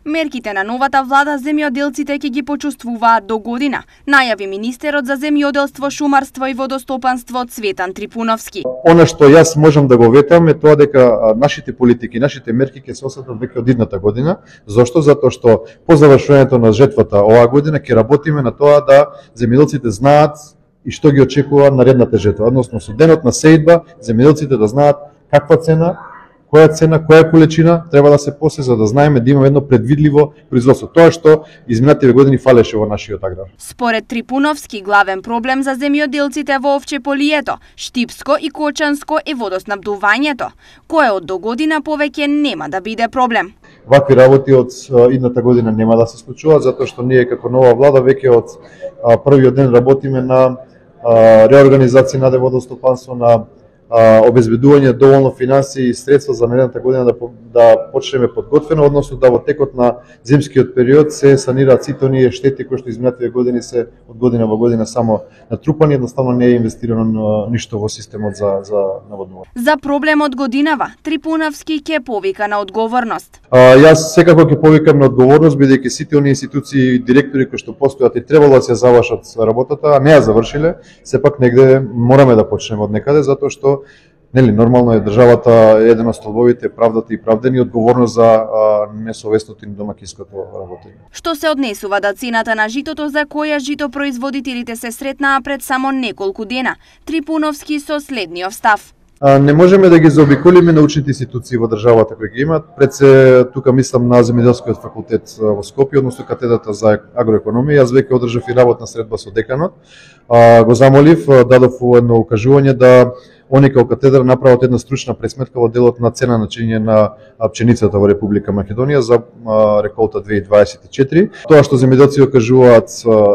Мерките на новата влада земјоделците ќе ги почувствуваат до година, најави министерот за земјоделство, шумарство и водостопанство Цветан Трипуновски. Она што јас можам да го ветам е тоа дека нашите политики, нашите мерки ќе се осетат веќе од идната година. Зошто? Затоа што по завршувањето на жетвата оваа година ќе работиме на тоа да земјоделците знаат и што ги очекува наредната жетва, односно со денот на сеидба земјоделците да знаат каква цена, која количина треба да се посе за да знаеме да имаме едно предвидливо производство. Тоа што изминативе години фалеше во нашиот аграр. Според Трипуновски, главен проблем за земјоделците во Овчеполието, Штипско и Кочанско е водоснабдувањето, кое од до година повеќе нема да биде проблем. Вакви работи од идната година нема да се случуваат, затоа што ние како нова влада веќе од првиот ден работиме на реорганизација на водостопанство, на обезбедување доволно финансии и средства за наредната година да почнеме подготвено, односно да во текот на зимскиот период се санираат сите оние штети кои што изминативе години се од година во година само натрупани, едноставно не е инвестирано ништо во системот за наводнување. За проблемот годинава, Трипуновски ќе повика на одговорност. Јас секако ќе повикам на одговорност, бидејќи сите оние институции и директори кои што постојат и требало да се завршат работата, а не ја завршиле, сепак негде мораме да почнеме од некаде, затоа што нормално е државата еден од столбовите правдата и правдени одговорност за несовестното и домакинското работење. Што се однесува до цената на житото за која житопроизводителите се сретнаа пред само неколку дена, Трипуновски со следниот став. Не можеме да ги заобиколиме научните институции во државата кои ги имаат. Пред се тука мислам на Земјоделскиот факултет во Скопје, односно катедрата за агроекономија. Јас веќе одржав и работна средба со деканот. Го замолив, дадов едно укажување да они како катедра направат една стручна пресметка во делот на цена на чинење на пченицата во Република Македонија за реколта 2024. Тоа што земјоделци кажуваат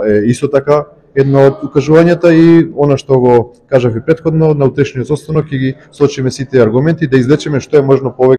е исто така едно од укажувањата и она што го кажав и претходно, на утрешниот состанок ќе ги сочиме сите аргументи да извлечеме што е можно повеќе